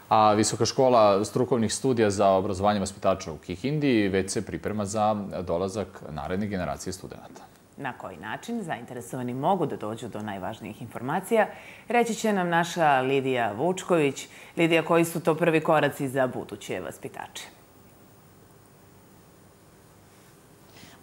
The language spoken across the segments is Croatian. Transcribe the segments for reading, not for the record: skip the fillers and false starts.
A Visoka škola strukovnih studija za obrazovanje vaspitača u Kikindi već se priprema za dolazak naredne generacije studenta. Na koji način zainteresovani mogu da dođu do najvažnijih informacija, reći će nam naša Lidija Vučković. Lidija, koji su to prvi koraci za buduće vaspitače?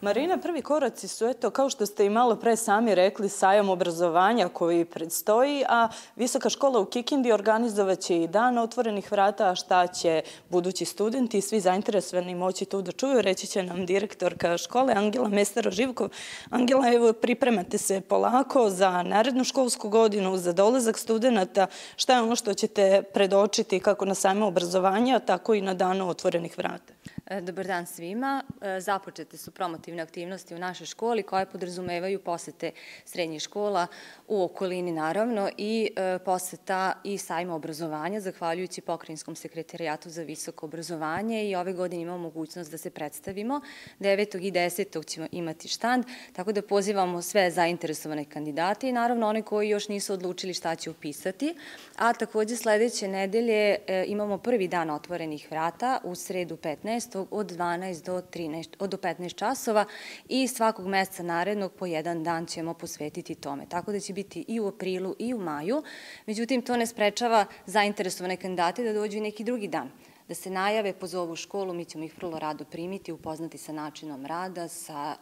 Marina, prvi koraci su, eto, kao što ste i malo pre sami rekli, sajam obrazovanja koji predstoji, a Visoka škola u Kikindi organizovaće i dan otvorenih vrata, a šta će budući studenti i svi zainteresovani moći tu da čuju, reći će nam direktorka škole Angela Mestaro-Živkov. Angela, evo, pripremate se polako za narednu školsku godinu, za dolazak studenta. Šta je ono što ćete predočiti kako na sajmu obrazovanja, tako i na danu otvorenih vrata? Dobar dan svima. Započete su promotivne aktivnosti u našoj školi koje podrazumevaju posete srednjih škola u okolini naravno i poseta i sajma obrazovanja zahvaljujući Pokrajinskom sekretarijatu za visoko obrazovanje i ove godine imamo mogućnost da se predstavimo. 9. i 10. ćemo imati štand, tako da pozivamo sve zainteresovane kandidate i naravno one koji još nisu odlučili šta će upisati. A takođe sledeće nedelje imamo prvi dan otvorenih vrata u sredu 15. od 12 do 15 časova i svakog meseca narednog po jedan dan ćemo posvetiti tome. Tako da će biti i u aprilu i u maju. Međutim, to ne sprečava zainteresovane kandidate da dođu i neki drugi dan. Da se najave, pozovu školu, mi ćemo ih vrlo rado primiti, upoznati sa načinom rada, sa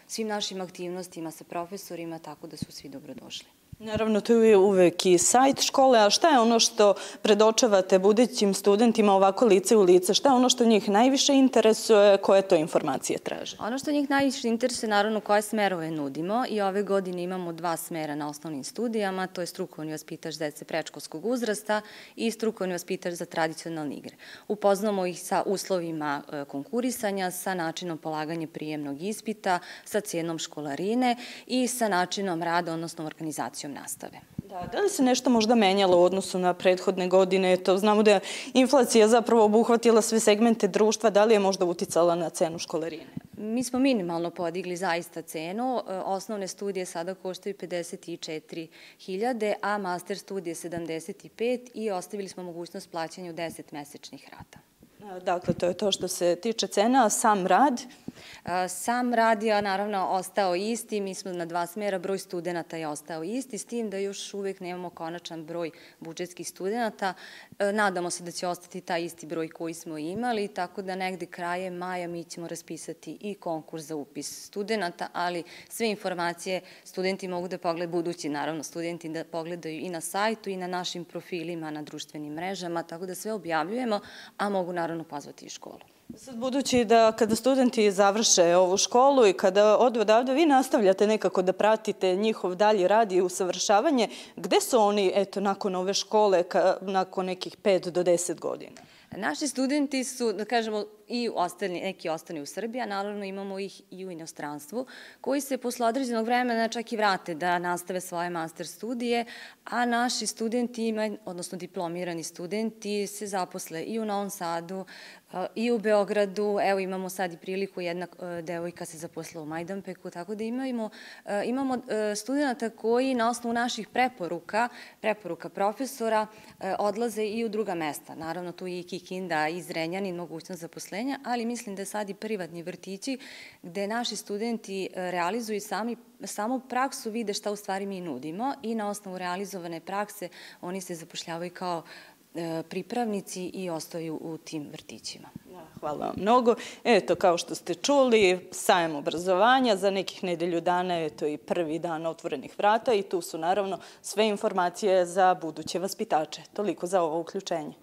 svim našim aktivnostima, sa profesorima, tako da su svi dobrodošli. Naravno, tu je uvek i sajt škole, a šta je ono što predočavate budućim studentima ovako lice u lice? Šta je ono što njih najviše interesuje, koje to informacije traže? Ono što njih najviše interesuje, naravno, koje smerove nudimo i ove godine imamo 2 smera na osnovnim studijama, to je strukovni vaspitač dece predškolskog uzrasta i strukovni vaspitač za tradicionalne igre. Upoznamo ih sa uslovima konkurisanja, sa načinom polaganja prijemnog ispita, sa cijenom školarine i sa načinom rada, odnosno organizacijom nastave. Da li se nešto možda menjalo u odnosu na prethodne godine? Znamo da je inflacija zapravo obuhvatila sve segmente društva. Da li je možda uticala na cenu školarine? Mi smo minimalno podigli zaista cenu. Osnovne studije sada koštaju 54.000, a master studije 75 i ostavili smo mogućnost plaćanja u 10 mesečnih rata. Dakle, to je to što se tiče cena, a sam rad? Sam rad je naravno ostao isti, mi smo na 2 smera, broj studenta je ostao isti, s tim da još uvek nemamo konačan broj budžetskih studenta. Nadamo se da će ostati taj isti broj koji smo imali, tako da negde krajem maja mi ćemo raspisati i konkurs za upis studenta, ali sve informacije studenti mogu da pogledaju, budući naravno studenti da pogledaju i na sajtu i na našim profilima, na društvenim mrežama, tako da sve objavljujemo, a mogu naravno pozvati i školu. Sad, budući da kada studenti završe ovu školu i kada odu odavde, vi nastavljate nekako da pratite njihov dalji rad i usavršavanje, gde su oni, eto, nakon ove škole, nakon nekih 5 do 10 godina? Naši studenti su, da kažemo, i neki ostani u Srbiji, a naravno imamo ih i u inostranstvu, koji se posle određenog vremena čak i vrate da nastave svoje master studije, a naši studenti, odnosno diplomirani studenti, se zaposle i u Novom Sadu, i u Beogradu. Evo, imamo sad i priliku, jedna devojka se zaposlila u Majdanpeku, tako da imamo studenta koji na osnovu naših preporuka profesora, odlaze i u druga mesta. Naravno, tu je i Kikinda, i Zrenjanin, mogućnost zaposlenja, ali mislim da sad i privatni vrtići gde naši studenti realizuju samu praksu, vide šta u stvari mi nudimo i na osnovu realizovane prakse oni se zapošljavaju kao pripravnici i ostaju u tim vrtićima. Hvala vam mnogo. Eto, kao što ste čuli, sajam obrazovanja, za nekih nedelju dana je to i prvi dan otvorenih vrata i tu su naravno sve informacije za buduće vaspitače. Toliko za ovo uključenje.